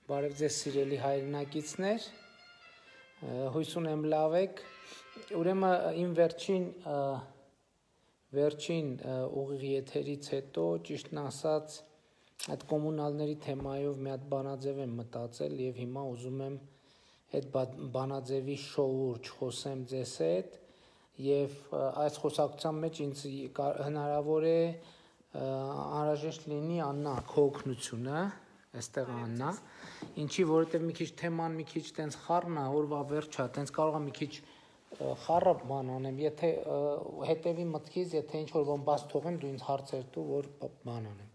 Բարև ձեզ սիրելի հայրենակիցներ, հույս ունեմ լավ եք, ուրեմն իմ վերջին ուղիղ եթերից հետո ճիշտն ասած այդ կոմունալների թեմայով մի հատ բանաձև եմ մտածել եւ հիմա ուզում եմ այդ բանաձևի շոուրջ խոսեմ ձեզ հետ եւ այս խոսակցության մեջ ինձ հնարավոր է անհրաժեշտ լինի Աննա քո օգնությունը Այստեղ Աննա, ինչի որովհետև մի քիչ թեման մի քիչ տենց խառն է, օրվա վերջա, տենց կարող եմ մի քիչ խառը բան անեմ, եթե հետևի մտքից, եթե ինչ-որ բան բաց թողեմ, դու ինձ հարցեր տու, որ բան անեմ,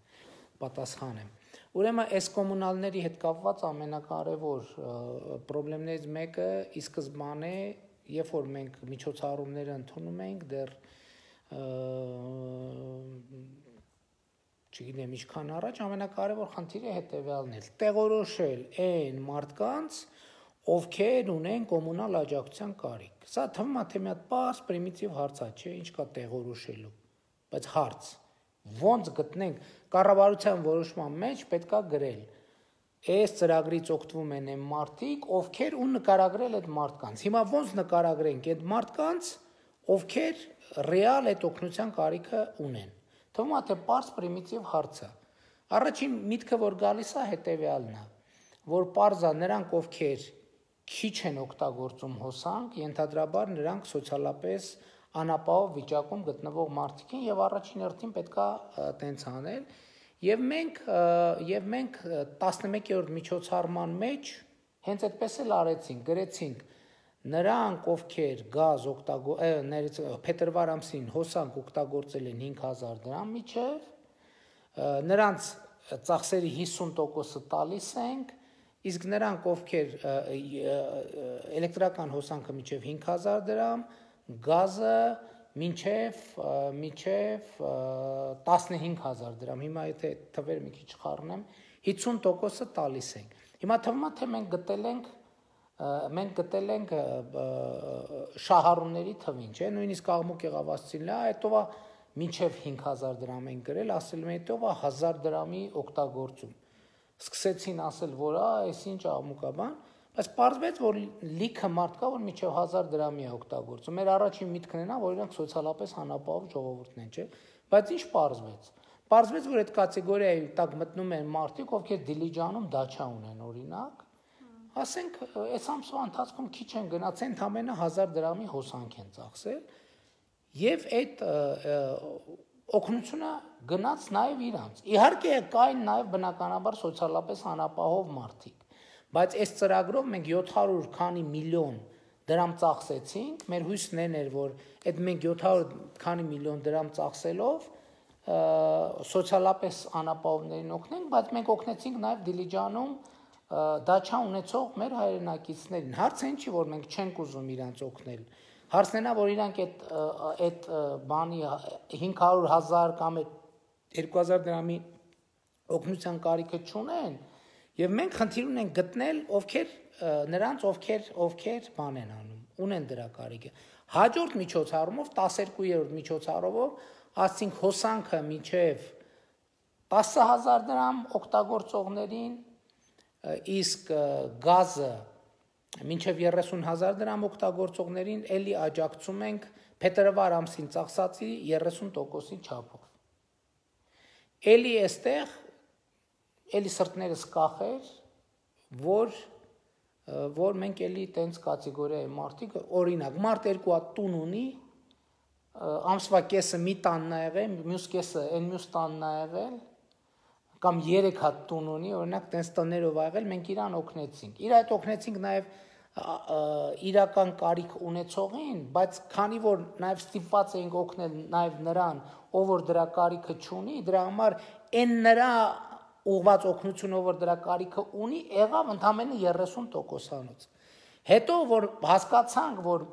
պատասխանեմ։ Ուրեմն այս կոմունալների հետ կապված ամենակարևոր խնդիրներից մեկը ի սկզբանե, երբ որ մենք միջոցառումները ընդունում ենք, դեռ չգիտեմ ինչքան առաջ ամենակարևոր խնդիրը հետևյալն է տեղորոշել այն մարդկանց ովքեր ունեն կոմունալ աջակցության կարիք սա թվում է թե մի հատ պարզ պրիմիտիվ հարց է չէ ինչ կա տեղորոշելու բայց հարց ոնց գտնենք կառավարության որոշման մեջ պետքա գրել այս ծրագրից օգտվում են այն մարդիկ ովքեր ու նկարագրել այդ մարդկանց հիմա ոնց նկարագրենք այդ մարդկանց ովքեր ռեալ այդ օգնության կարիքը ունեն Թվում է թե պարզ պրիմիտիվ հարց է։ Առաջին միտքը որ գալիս է հետևյալն է, որ պարզ է նրանք ովքեր քիչ են օգտագործում հոսանք, ենթադրաբար նրանք սոցիալապես անապահով վիճակում գտնվող մարդիկ են եւ առաջին հերթին պետքա տենց անել եւ մենք 11-րդ միջոցառման մեջ հենց այդպես էլ արեցինք, գրեցինք Նրանք ովքեր գազ փետրվար ամսին հոսանք օգտագործել են 5000 դրամ միջև նրանց ծախսերի 50%-ը տալիս ենք իսկ նրանք ովքեր էլեկտրական հոսանքը միջև 5000 դրամ գազը միջև 15000 դրամ հիմա եթե թվեր մի քիչ խառնեմ 50%-ը տալիս ենք հիմա թվում է թե մենք գտել ենք շահառուների թվին, չէ, նույնիսկ աղմուկ եղավասցին լա, հետո մինչև 5000 դրամ են գրել, ասել են հետո 1000 դրամի օգտագործում։ Սկսեցին ասել, որ այս ինչ աղմուկ է բան, բայց պարզվեց, որ լիքը մարդ կա, որ մինչև 1000 դրամի է օգտագործում։ Մեր առաջին միտքն է, որ իրանք սոցիալապես անապահով ժողովուրդն են, չէ։ Բայց ինչ պարզվեց։ Պարզվեց, որ այդ կատեգորիայի տակ մտնում են մարդիկ, ովքեր Դիլիջանում դաչա ունեն, օրինակ Ասենք, այս ամսվա ընթացքում քիչ են գնացել, ընդամենը 1000 դրամի հոսանք են ծախսել եւ այդ օգնությունը գնաց նաեւ իրանց։ Իհարկե կային նաեւ բնականաբար սոցիալապես անապահով մարդիկ, բայց այս ծրագրով մենք 700 քանի միլիոն դրամ ծախսեցինք, մեր հույսն էր, որ այդ մենք 700 քանի միլիոն դրամ ծախսելով սոցիալապես անապահովներին օգնենք, բայց մենք օգնեցինք նաեւ Դիլիջանում դաչա ունեցող մեր հայրենակիցներին հարցը ինչի որ մենք չենք ուզում իրանց օգնել հարցն է որ իրանք այդ բանի 500,000 կամ 2000 դրամի օգնության կարիքը չունեն եւ մենք խնդիր ունենք գտնել նրանց ովքեր բան են անում ունեն դրա կարիքը հաջորդ միջոցառումով 12-րդ միջոցառումով ասենք հոսանքը մինչեւ 10000 դրամ օգտագործողներին իսկ գազը մինչև 30000 դրամ օգտագործողներին էլի աջակցում ենք փետրվար ամսին ծախսածի 30%-ի չափով։ Էլի այստեղ էլի սրտներս կախեր, որ մենք էլի տենց կատեգորիայի մարդիկ, օրինակ, մարդ երկու հատ տուն ունի, ամսվա կեսը մի տանն ա եղել, մյուս կեսը այն մյուս տանն ա եղել, կամ 3 հատ տուն ունի, օրինակ տենց տներով ա եղել, մենք իրան օգնեցինք։ Իր այդ օգնեցինք նաև իրական կարիք ունեցողին, բայց քանի որ նաև ստիպված էինք օգնել նաև նրան, ով որ դրա կարիքը չունի, դրա համար այն նրա ուղղված օգնությունը, ով որ դրա կարիքը ունի, եղավ ընդամենը 30%-անոց։ Հետո որ հասկացանք, որ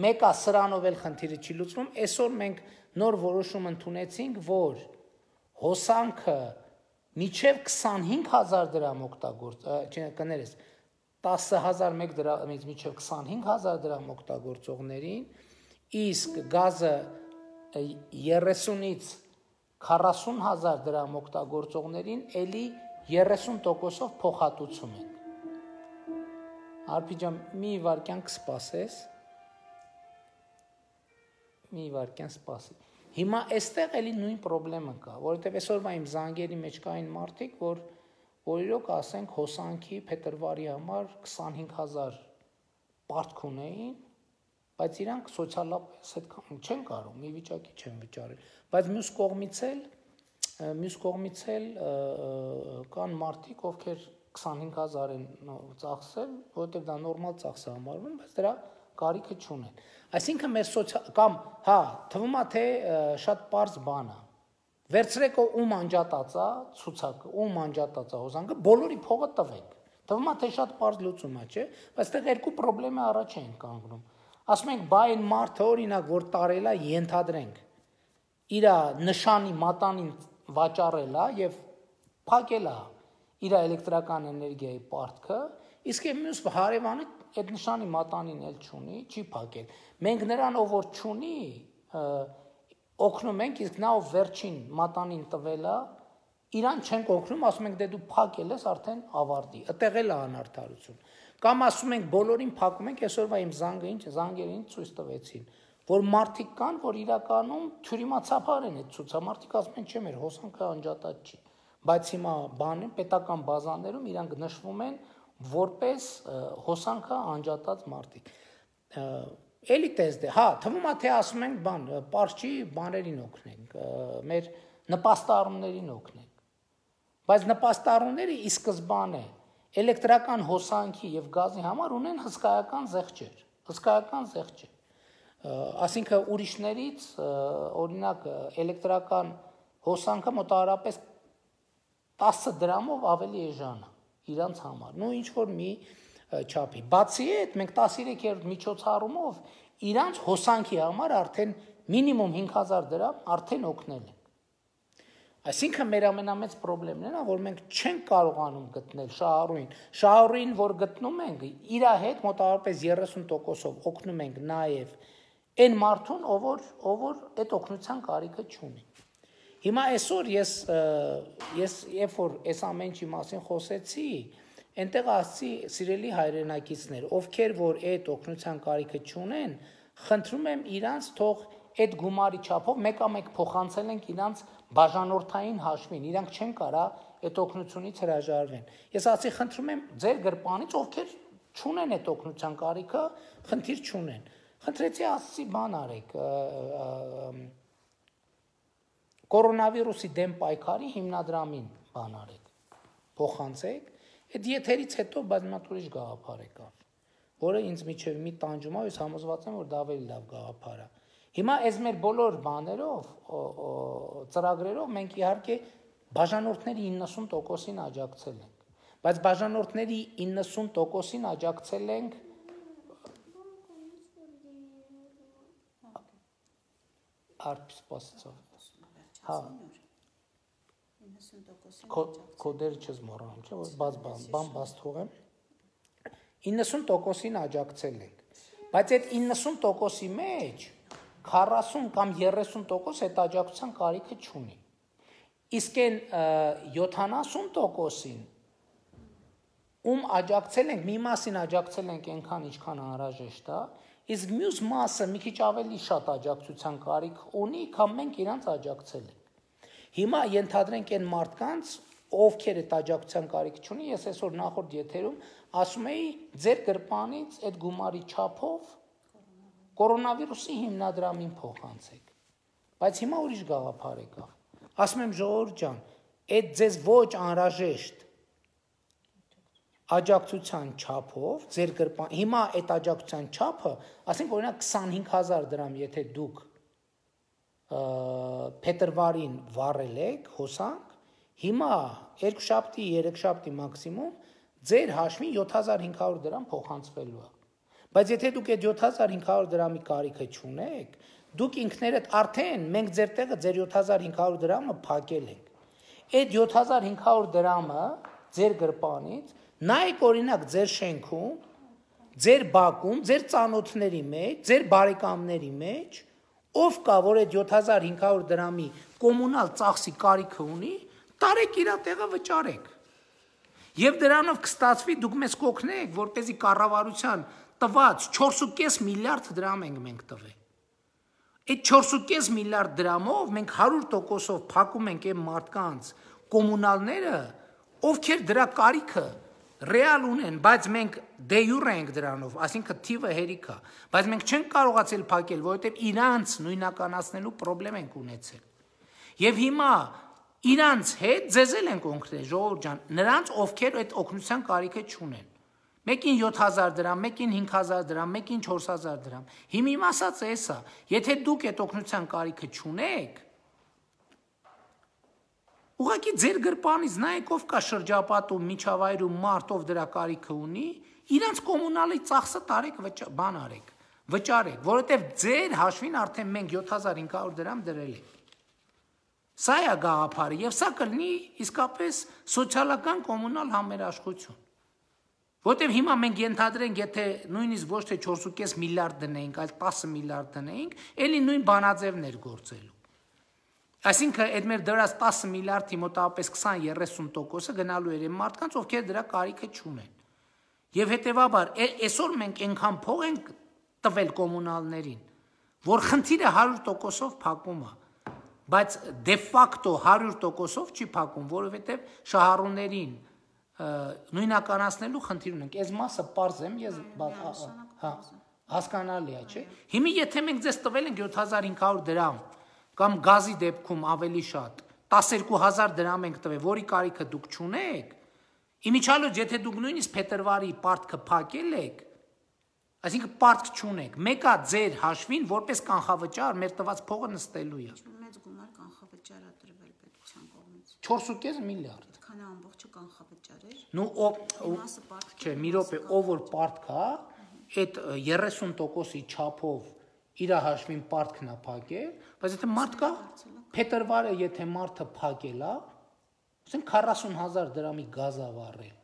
մեկա սրանով էլ խնդիրը չի լուծվում, այսօր մենք նոր որոշում ընդունեցինք, որ հոսանքը Միջև 25000 դրամ կներես 10001 դրամից միջև 25000 դրամ օգտագործողներին, իսկ գազը 30-ից 40000 դրամ օգտագործողներին էլի 30%-ով փոխհատուցում են։ Արփի ջան, մի վարքյան կսպասես։ Մի վարքյան սպասի։ Հիմա այստեղ էլի նույն խնդրեմը կա, որովհետև այսօրվա իմ զանգերի մեջ կային մարդիկ, որ իրոք ասենք հոսանքի փետրվարի համար 25000 պարտք ունեին, բայց իրանք սոցիալապես այդքան չեն կարող, մի վիճակի չեն վճարել, բայց մյուս կողմից էլ կան մարդիկ, ովքեր 25000 են ծախսել, որովհետև դա նորմալ ծախս է համարվում, բայց դրա կարիքը չունեն։ Այսինքն մեր կամ հա, թվում է թե շատ པարզ բան է։ Վերցրեք ում անջատած է ցուցակը, ում անջատած է հոսանքը, բոլորի փողը տվեք։ Թվում է թե շատ པարզ լուծում է, չէ՞, բայց այդտեղ երկու խնդրեմը առաջ են կանգնում։ Ասում ենք, բայ այն մարդը օրինակ, որ տարել է, ենթադրենք, իր նշանի մատանին վաճառել է եւ փակել է իր էլեկտրական էներգիայի պարտքը, իսկ մյուս հարևանը այդ նշանի մատանին էլ չունի, չի փակել։ Մենք նրան ով որ չունի, օգնում ենք, իսկ նա ով վերջին մատանին տվել է, իրան չենք օգնում, ասում ենք դե դու փակել ես, արդեն ավարտի։ Այդտեղ էլ է անարդարություն։ Կամ ասում ենք բոլորին փակում ենք, այսօրվա իմ զանգերին ցույց տվեցին, որ մարդիկ կան, որ իրականում թյուրիմացաբար են այդ ցուցամարտիկ ասում են, չէ, մեր հոսանքը անջատած չի։ Բայց հիմա պետական բազաներում իրանք նշվում են որպես հոսանքը անջատած մարդիկ։ Էլի տեսդ է, հա, թվում է թե ասում ենք բան, պարչի բաներին օգնենք, մեր նպաստառումներին օգնենք։ Բայց նպաստառումները ի սկզբանե էլեկտրական հոսանքի եւ գազի համար ունեն հսկայական զեղչեր։ Այսինքն ուրիշներից օրինակ էլեկտրական հոսանքը մոտավորապես 10 դրամով ավելի էժան է իրանց համար, նո ինչ որ մի չափի։ Բացի այդ, մենք 13-րդ միջոցառումով իրանց հոսանքի համար արդեն մինիմում 5000 դրամ արդեն օգնել ենք։ Այսինքն մեր ամենամեծ խնդիրն է, որ մենք չենք կարողանում գտնել շահառուին, որ գտնում ենք, իր հետ մոտավորապես 30%-ով օգնում ենք նաև այն մարդուն, ով որ այդ օգնության կարիքը չունի։ Հիմա այսօր ես երբ որ այս ամեն ինչի մասին խոսեցի, այնտեղ ասացի սիրելի հայրենակիցներ, ովքեր որ այդ օգնության կարիքը չունեն, խնդրում եմ իրանց թող այդ գումարի չափով մեկ փոխանցել ենք իրանց բաժանորդային հաշվին, իրանք չեն կարա այդ օգնությունից հրաժարվեն։ Ես ասացի խնդրում եմ ձեր գրպանից, ովքեր չունեն այդ օգնության կարիքը, խնդիր չունեն։ Խնդրեցի ասացի բան արեք, կորոնավիրուսի դեմ պայքարի հիմնադրամին բան արեք, փոխանցեք, այդ եթերից հետո բազմաթ ուրիշ գաղափար եկավ, որը ինձ միջև մի տանջում է, ես համոզված եմ, որ դա ավելի լավ գաղափար է։ Հիմա այս մեր բոլոր բաներով, ծրագրերով մենք իհարկե բաժանորդների 90%-ին աջակցել ենք, բայց բաժանորդների 90%-ին աջակցել ենք արփ սպասեցով։ Հա, 90%-ին կոդեր չես մոռանում, չէ՞, որ բաց թողեմ։ 90%-ին աջակցել ենք, բայց այդ 90%-ի մեջ 40 կամ 30% այդ աջակցության կարիքը չունի։ Իսկ այն 70%-ին ում աջակցել ենք, մի մասին աջակցել ենք այնքան, ինչքան անհրաժեշտ է, իսկ մյուս մասը մի քիչ ավելի շատ աջակցության կարիք ունի, քան մենք իրանց աջակցել ենք։ Հիմա ենթադրենք այն մարդկանց, ովքեր այդ աջակցության կարիք չունի, ես այսօր նախորդ եթերում ասում էի, ձեր գրպանից այդ գումարի չափով կորոնավիրուսի հիմնադրամին փոխանցեք։ Բայց հիմա ուրիշ գաղափար եկավ։ Ասում եմ ժողովուրդ ջան, այդ ձեզ ոչ անհրաժեշտ աջակցության չափով ձեր գրպան, հիմա այդ աջակցության չափը, ասենք օրինակ 25000 դրամ, եթե դուք փետրվարին վառել եք հոսանք, հիմա 2 շաբթի, 3 շաբթի մաքսիմում ձեր հաշվին 7500 դրամ փոխանցվելու է։ Բայց եթե դուք այդ 7500 դրամի կարիքը չունեք, դուք ինքներդ արդեն մենք ձեր տեղը ձեր 7500 դրամը փակել ենք։ Այդ 7500 դրամը ձեր գրպանից նայեք օրինակ ձեր շենքում, ձեր բակում, ձեր ծանոթների մեջ, ձեր բարեկամների մեջ, ով կա, որ այդ 7500 դրամի կոմունալ ծախսի կարիքը ունի, տարեք իր տեղը վճարեք։ Եվ դրանով կստացվի դուք մեզ կօգնեք, որպեսզի կառավարության տված 4.5 միլիարդ դրամ ենք մենք տվել։ Այդ 4.5 միլիարդ դրամով մենք 100%-ով փակում ենք այն մարդկանց կոմունալները, ովքեր դրա կարիքը ռեալ ունեն, բայց մենք դե յուրե ենք դրանով, այսինքն թիվը հերիք է, բայց մենք չենք կարողացել փակել, որովհետև իրանց նույնականացնելու խնդրեմ ենք ունեցել։ Եվ հիմա իրանց հետ ձեզել են կոնկրետ, ժողովուրդ ջան, նրանց ովքեր այդ օգնության կարիքը չունեն։ Մեկին 7000 դրամ, մեկին 5000 դրամ, մեկին 4000 դրամ։ Հիմա իմ ասածը էսա, եթե դուք այդ օգնության կարիքը չունեք, ուղղակի ձեր գրպանից նայեք ով կա շրջապատում, միջավայրում մարդ ով դրա կարիքը ունի, իրանց կոմունալի ծախսը տարեք բան արեք, վճարեք, որովհետև ձեր հաշվին արդեն մենք 7500 դրամ դրել ենք։ Սա է գաղափարը եւ սա կլինի իսկապես սոցիալական կոմունալ համերաշխություն։ Որտեւ հիմա մենք ենթադրենք, եթե նույնիսկ ոչ թե 4.5 միլիարդ դնեինք, այլ 10 միլիարդ դնեինք, ելի նույն բանաձևն էր գործելու։ Այսինքն այդ մեր դրած 10 միլիարդի մոտավորապես 20-30%-ը գնալու էր այն մարդկանց, ովքեր դրա կարիքը չունեն։ Եվ հետեւաբար այսօր մենք այնքան փող ենք տվել կոմունալներին, որ խնդիրը 100%-ով փակում է, բայց դե ֆակտո 100%-ով չի փակում, որովհետև շահառուներին նույնականացնելու խնդիր ունենք։ Այս մասը պարզ եմ, ես հասկանալի է, չէ՞։ Հիմա եթե մենք ձեզ տվել ենք 7500 դրամ կամ գազի դեպքում ավելի շատ 12000 դրամ ենք տվել, որի կարիքը դուք չունեք, իմիջիալոց եթե դուք նույնիսկ փետրվարի պարտքը փակել եք, այսինքն պարտք չունեք, մեկա ձեր հաշվին որպես կանխավճար մեր տված փողը նստելու է։ Մեծ գումար կանխավճար է տրվել պետության կողմից։ 4.5 միլիարդ։ Քանի ամբողջը կանխավճար էր։ Չէ, մի րոպե, ով որ պարտք է, այդ 30%-ի չափով իր հաշվին պարտքն է փակել, բայց եթե մարդկա փետրվարը եթե մարդը փակել է, ասենք 40000 դրամի գազ ավառել,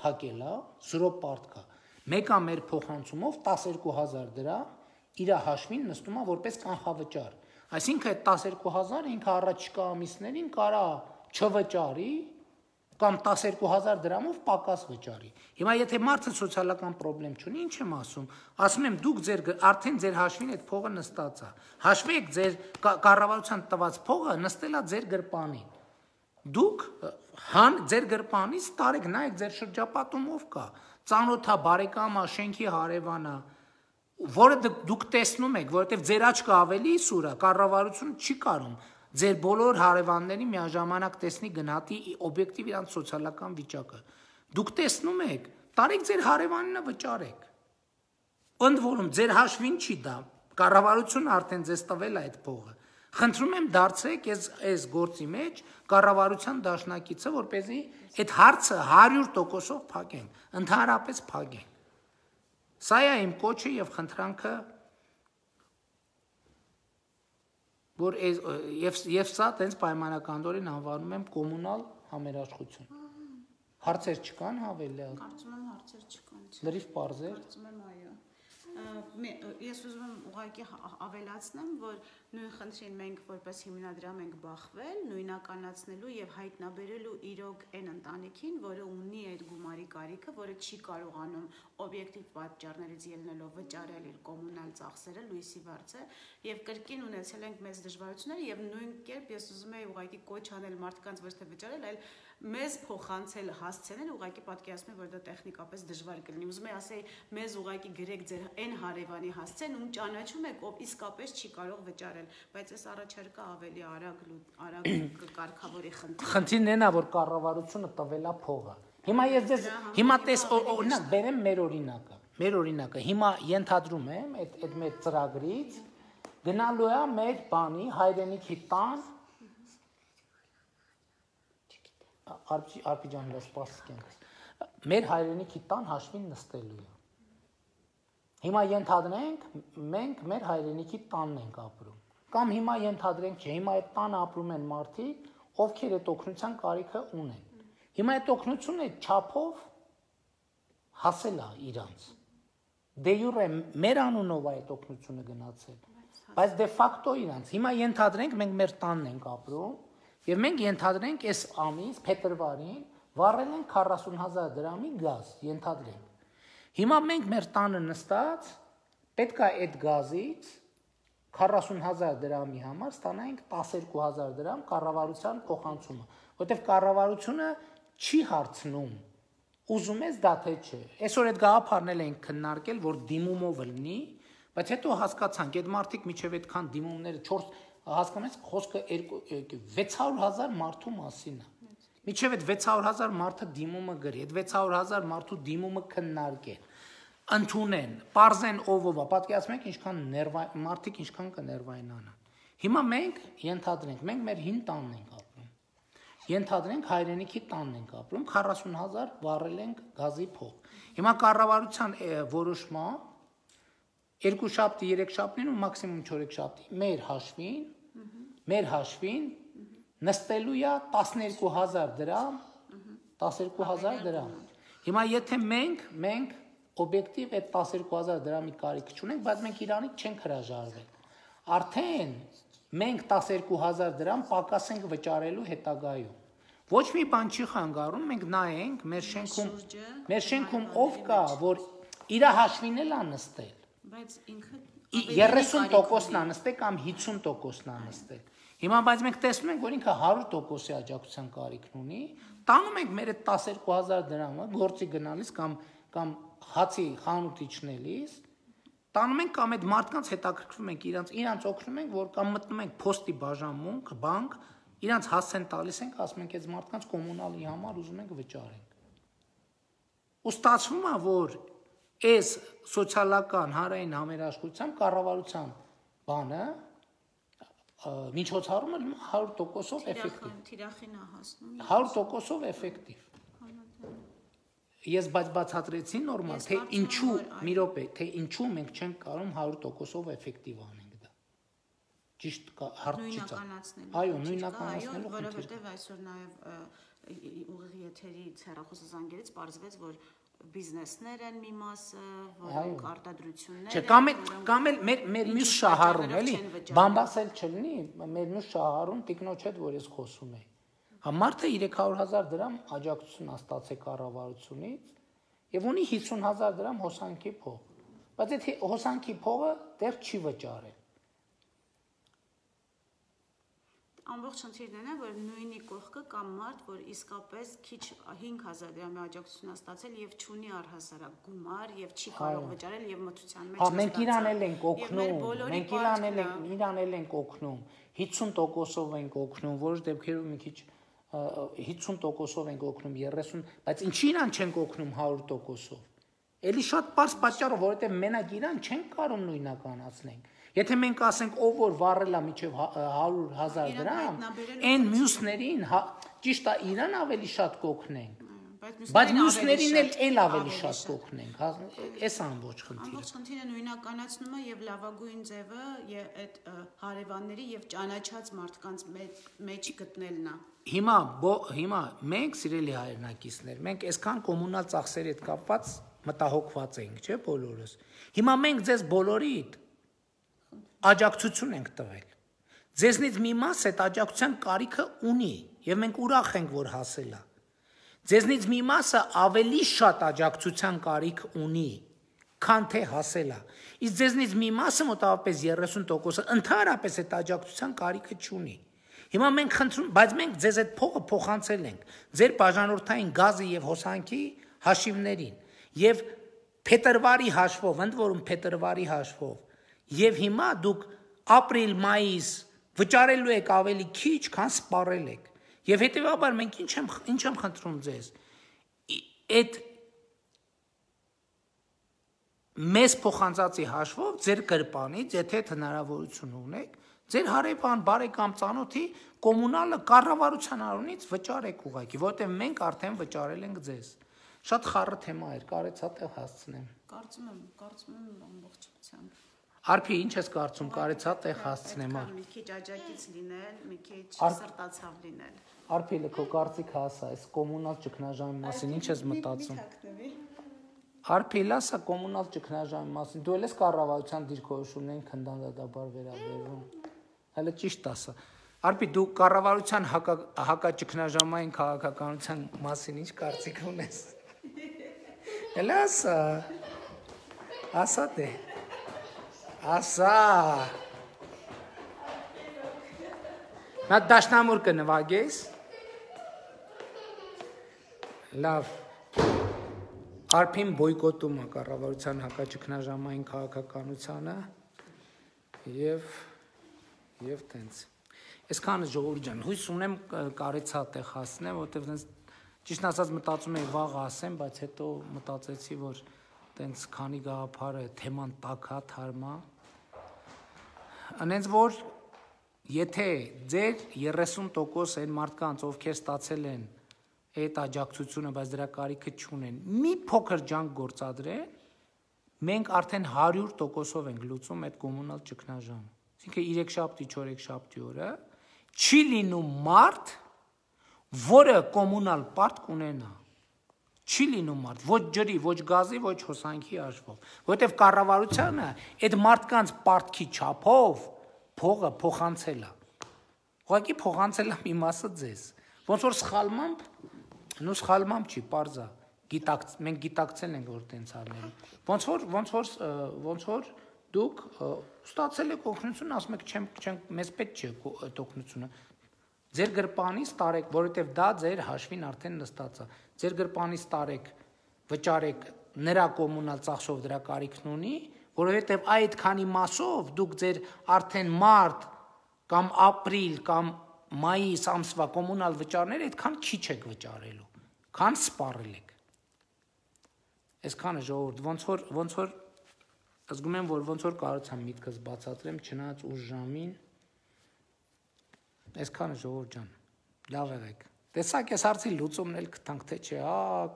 փակել է, 0 պարտքա։ Մեկա մեր փոխանցումով 12000 դրամ իր հաշվին նստում է որպես կանխավճար։ Այսինքն այդ 12000-ը ինքը առաջիկա ամիսներին կարա չվճարի կամ 12000 դրամով պակաս վճարի։ Հիմա եթե մարդը սոցիալական խնդրեմ չունի, ինչ եմ ասում եմ դուք արդեն ձեր հաշվին այդ փողը նստած է։ Հաշվեք ձեր կառավարության տված փողը նստել է ձեր գրպանին։ Դուք ձեր գրպանից տարեք, նայեք ձեր շրջապատում ով կա, ծանոթա, բարեկամա, շենքի հարևանա, որը դուք տեսնում եք, որովհետև ձեր աչքը ավելի սուր է, կառավարությունը չի կարող ձեր բոլոր հարևանների միաժամանակ տեսնի գնահատի օբյեկտիվ իրանց սոցիալական վիճակը։ Դուք տեսնում եք, տարեք ձեր հարևանինը վճարեք։ Ընդ որում ձեր հաշվին չի դա, կառավարությունը արդեն ձեզ տվել է այդ փողը։ Խնդրում եմ դարձրեք այս գործի մեջ կառավարության դաշնակիցը, որպեսզի այդ հարցը 100%-ով փակենք, ընդհանրապես փակենք։ Սա է իմ կոչը եւ խնդրանքը, որ եւ սա տենց պայմանականորեն անվանում եմ կոմունալ համերաշխություն։ Հարցեր չկան հավելյալ։ Կարծում եմ հարցեր չկան։ Լրիվ պարզեր։ Կարծում եմ այո։ Ես ուզում եմ ուղղակի ավելացնեմ, որ նույն խնդրին մենք որպես հիմնադրամ ենք բախվել, նույնականացնելու եւ հայտնաբերելու իրոք այն ընտանիքին, որը ունի այդ գումարի կարիքը, որը չի կարողանում օբյեկտիվ պատճառներից ելնելով վճարել իր կոմունալ ծախսերը լույսի վարձը եւ կրկին ունեցել ենք մեծ դժվարություններ եւ նույն կերպ ես ուզում եի ուղղակի կոչ անել մարդկանց ոչ թե վճարել, այլ մեզ փոխանցել հասցնել, ուղղակի պատկերացնում եմ, որ դա տեխնիկապես դժվար կլինի։ Ուզում եմ ասել, մեզ ուղղակի գրեք ձեր այն հարևանի հասցեն, ում ճանաչում եք, ով իսկապես չի կարող վճարել, բայց այս առաջարկը ավելի արագ կարգավորի խնդիրը։ Խնդիրն այն է, որ կառավարությունը տվել է փողը։ Հիմա ես ձեզ հիմա օրինակ բերեմ մեր օրինակը։ Մեր օրինակը հիմա ենթադրում եմ այդ մեր ծրագրից գնալու է մեր բանի հայրենիքի տան Արփի ջան, սպասենք։ Մեր հայրենիքի տան հաշվին նստելու է։ Հիմա ենթադրենք մենք մեր հայրենիքի տանն ենք ապրում։ Կամ հիմա ենթադրենք, չէ, հիմա այդ տանը ապրում են մարդիկ, ովքեր այդ օգնության կարիքը ունեն։ Հիմա այդ օգնությունը չափով հասել է իրանց։ Դե յուրե մեր անունով է այդ օգնությունը գնացել, բայց դե ֆակտո իրանց։ Հիմա ենթադրենք մենք մեր տանն ենք ապրում, եւ մենք ենթադրենք այս ամիս փետրվարին վառել ենք 40,000 դրամի գազ, ենթադրենք։ Հիմա մենք մեր տանը նստած պետք է այդ գազից 40,000 դրամի համար ստանայինք 12,000 դրամ կառավարության փոխանցումը, որտեղ կառավարությունը չի հարցնում ուզում ես դա թե չէ։ Այսօր այդ գաղափարն ենք քննարկել, որ դիմումով լինի, բայց հետո հասկացանք, այդ մարդիկ միջև այդքան դիմումները 4 հասկանում եք, խոսքը 600,000 մարդու մասին է։ Միջև այդ 600,000 մարդը դիմումը գրի, այդ 600,000 մարդու դիմումը քննարկեն, ընդունեն, պարզեն ով է, պատկերացնում եք ինչքան մարդիկ ինչքան կներվայնանան։ Հիմա մենք ենթադրենք, մենք մեր հին տանն ենք ապրում։ Ենթադրենք հայրենիքի տանն ենք ապրում, 40,000 վառել ենք գազի փող։ Հիմա կառավարության որոշմամբ 2 շաբթի, 3 շաբթին ու մաքսիմում 4 շաբթի մեր հաշվին նստելու է 12,000 դրամ, 12,000 դրամ։ Հիմա եթե մենք օբյեկտիվ այդ 12,000 դրամի կարիք չունենք, բայց մենք իրանից չենք հրաժարվել։ Արդեն մենք 12,000 դրամ պակաս ենք վճարելու հետագայում։ Ոչ մի բան չի խանգարում, մենք նայենք մեր շենքում ով կա, որ իր հաշվին էլ է նստել։ Բայց ինքը 30%-ն է նստել կամ 50%-ն է նստել։ Հիմա բայց մենք տեսնում ենք, որ ինքը 100%-ի աջակցության կարիքն ունի, տանում ենք մեր այդ 12,000 դրամը գործի գնալիս կամ հացի խանութ իջնելիս, տանում ենք կամ այդ մարդկանց հետաքրքրվում ենք, իրանց օգնում ենք, որ կամ մտնում ենք փոստի բաժանմունք, բանկ, իրանց հասցեն տալիս ենք, ասում ենք այս մարդկանց կոմունալի համար ուզում ենք վճարենք։ Ու ստացվում է, որ այս սոցիալական հանրային համերաշխության կառավարության բանը միջոցառումը 100%-ով էֆեկտիվ։ Թիրախին է հասնում։ 100%-ով էֆեկտիվ։ Ես բացատրեցի նորմալ, թե ինչու, մի րոպե, թե ինչու մենք չենք կարող 100%-ով էֆեկտիվ անենք դա։ Ճիշտ հարց չի ցա։ Այո, նույնականացնելու խնդիր։ Որովհետև այսօր նաև ուղիղ եթերից հեռախոսի զանգերից պարզվեց, որ բիզնեսներ են մի մասը, որոնք արտադրություններ են։ Կամ էլ մեր մյուս շահառուն, էլի, բամբասել չլինի, մեր մյուս շահառուն տիկնոջ հետ, որ ես խոսում եի։ Մարդը 300,000 դրամ աջակցություն է ստացել կառավարությունից եւ ունի 50,000 դրամ հոսանքի փող։ Բայց այդ հոսանքի փողը դեռ չի վճարել։ Ամբողջ խնդիրն է, որ նույնի կողքը կամ մարդ, որ իսկապես քիչ 5,000 դրամի աջակցություն է ստացել եւ չունի առհասարակ գումար եւ չի կարող վճարել եւ մթության մեջ։ Մենք իրանել ենք օգնում, 50%-ով ենք օգնում, որոշ դեպքերում մի քիչ 50%-ով ենք օգնում, 30, բայց ինչի իրան չենք օգնում 100%-ով։ Էլի շատ պարզ պատճառով, որովհետեւ մենակ իրան չենք կարող նույնականացնենք։ Եթե մենք ասենք ով որ վառել է միջև 100,000 դրամ, այն մյուսներին ճիշտ է իրան ավելի շատ կօգնենք, բայց մյուսներին էլ ավելի շատ կօգնենք, էս ամբողջ խնդիրը։ Ամբողջ խնդիրը նույնականացնումը եւ լավագույն ձևը այդ հարևանների եւ ճանաչած մարդկանց մեջ գտնելն է։ Հիմա մենք սիրելի հայրենակիցներ, մենք այսքան կոմունալ ծախսերի հետ կապված մտահոգված ենք, չէ՞ բոլորս։ Հիմա մենք ձեզ բոլորիդ աջակցություն ենք տվել։ Ձեզնից մի մաս այդ աջակցության կարիքը ունի եւ մենք ուրախ ենք, որ հասել է։ Ձեզնից մի մասը ավելի շատ աջակցության կարիք ունի, քան թե հասել է։ Իսկ ձեզնից մի մասը մոտավորապես 30%-ը ընդհանրապես այդ աջակցության կարիքը չունի։ Հիմա մենք խնդրում, բայց մենք ձեզ այդ փողը փոխանցել ենք ձեր բաժանորդային գազի եւ հոսանքի հաշիվներին եւ փետրվարի հաշվով, ընդ որում փետրվարի հաշվով։ Եվ հիմա դուք ապրիլ, մայիս վճարելու եք ավելի քիչ, քան սպառել եք։ Եվ հետեւաբար մենք ինչ եմ խնդրում ձեզ։ Այդ մեզ փոխանցածի հաշվով ձեր գրպանից, եթե հնարավորություն ունեք, ձեր հարևան, բարեկամ, ծանոթի կոմունալը կառավարության առունից վճարեք ուղղակի, որովհետև մենք արդեն վճարել ենք ձեզ։ Շատ խառը թեմա էր, կարեցա տեղ հասցնեմ։ Կարծում եմ ամբողջությամբ։ Արփի, ինչ ես կարծում, կարեցա տեղ հասցնեմ։ Մի քիչ աջակից լինել, մի քիչ սրտացավ լինել։ Արփի, քո կարծիքը ասա, այս կոմունալ ճգնաժամի մասին ինչ ես մտածում։ Արփի, լասա կոմունալ ճգնաժամի մասին։ Դու ես կառավարության դիրքորոշումներին քննադատաբար վերաբերվում։ Հələ ճիշտ ասա։ Արփի դու կառավարության հակաճգնաժամային քաղաքականության մասին ինչ կարծիք ունես։ Էլ ասա դե։ Ասա։ Նա դաշնամուր կնվագես։ Լավ։ Արփին բոյկոտում է կառավարության հակաճգնաժամային քաղաքականությունը եւ տենց։ Այսքանը ժողովուրդ ջան, հույս ունեմ կարեցա տեղ հասնեմ, որտեղ տենց ճիշտ ասած մտածում էի վաղ ասեմ, բայց հետո մտածեցի, որ տենց քանի գաղափարը թեման տակա թարմա։ Անենց որ եթե ձեր 30% այն մարդկանց, ովքեր ստացել են այդ աջակցությունը, բայց դրա կարիքը չունեն, մի փոքր ջանք գործադրեն, մենք արդեն 100%-ով ենք լուծում այդ կոմունալ ճգնաժամը։ Այսինքն 3 շաբթի, 4 շաբթի օրը չի լինում մարդ, որը կոմունալ պարտ կունենա։ Չի լինում մարդ, ոչ ջրի, ոչ գազի, ոչ հոսանքի հաշվով, որովհետև կառավարությունը այդ մարդկանց պարտքի չափով փողը փոխանցել է։ Ուղղակի փոխանցել է մի մասը ձեզ։ Ոնց որ սխալմամբ չի, պարզա։ Մենք գիտակցել ենք, որ տենց արնել։ Ոնց որ դուք ստացել եք օգնություն, ասում եք մեզ պետք չէ այդ օգնությունը։ Ձեր գրպանից տարեք, որովհետև դա ձեր հաշվին արդեն նստած է։ Ձեր ապրանքից տարեք, վճարեք նրա կոմունալ ծախսով դրա կարիքն ունի, որովհետև այդ քանի մասով դուք ձեր արդեն մարտ կամ ապրիլ կամ մայիս ամսվա կոմունալ վճարները այդքան քիչ եք վճարելու, քան սպառել եք։ Այսքանը ժողովուրդ, ոնց որ զգում եմ, որ ոնց որ կարողացամ միտքս բացատրեմ, չնայած ուշ ժամին, այսքանը ժողովուրդ ջան, լավ եղեք։ Տեսակ ես հարցի լուծումն էլ գտանք, թե չէ,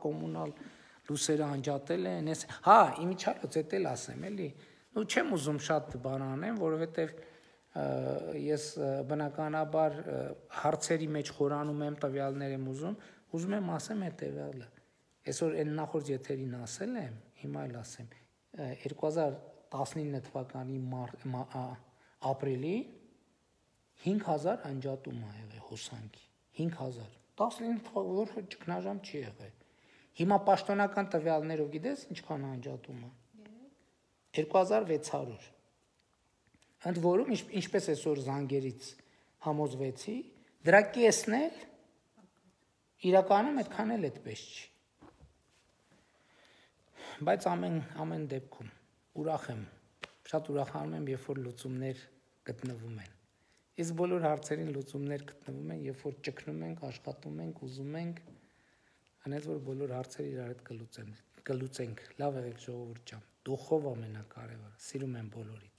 կոմունալ լուսերը անջատել են, իմիջիալոց էդ էլ ասեմ, էլի, չեմ ուզում շատ բան անեմ, որովհետև ես բնականաբար հարցերի մեջ խորանում եմ, տվյալներ եմ ուզում եմ ասեմ հետևյալը, այսօր այն նախորդ եթերին ասել եմ, հիմա էլ ասեմ, 2019 թվականի ապրիլի 5000 անջատում ա եղել հոսանքի, 5000, 19 թվականի ճգնաժամ չի եղել, հիմա պաշտոնական տվյալներով գիտես ինչքան անջատում ա, 2600, ընդ որում ինչպես այսօր զանգերից համոզվեցի, դրա կեսն էլ իրականում այդքան էլ այդպես չի, բայց ամեն դեպքում ուրախ եմ, շատ ուրախանում եմ, երբ որ լուծումներ գտնվում են, իսկ բոլոր հարցերին լուծումներ գտնվում են, երբ որ ճգնում ենք, աշխատում ենք, ուզում ենք, անենց որ բոլոր հարցերը իրար հետ կլուծենք, լավ եղեք ժողովուրդ ջան, դուխով ամենակարևորը, սիրում եմ բոլորիդ։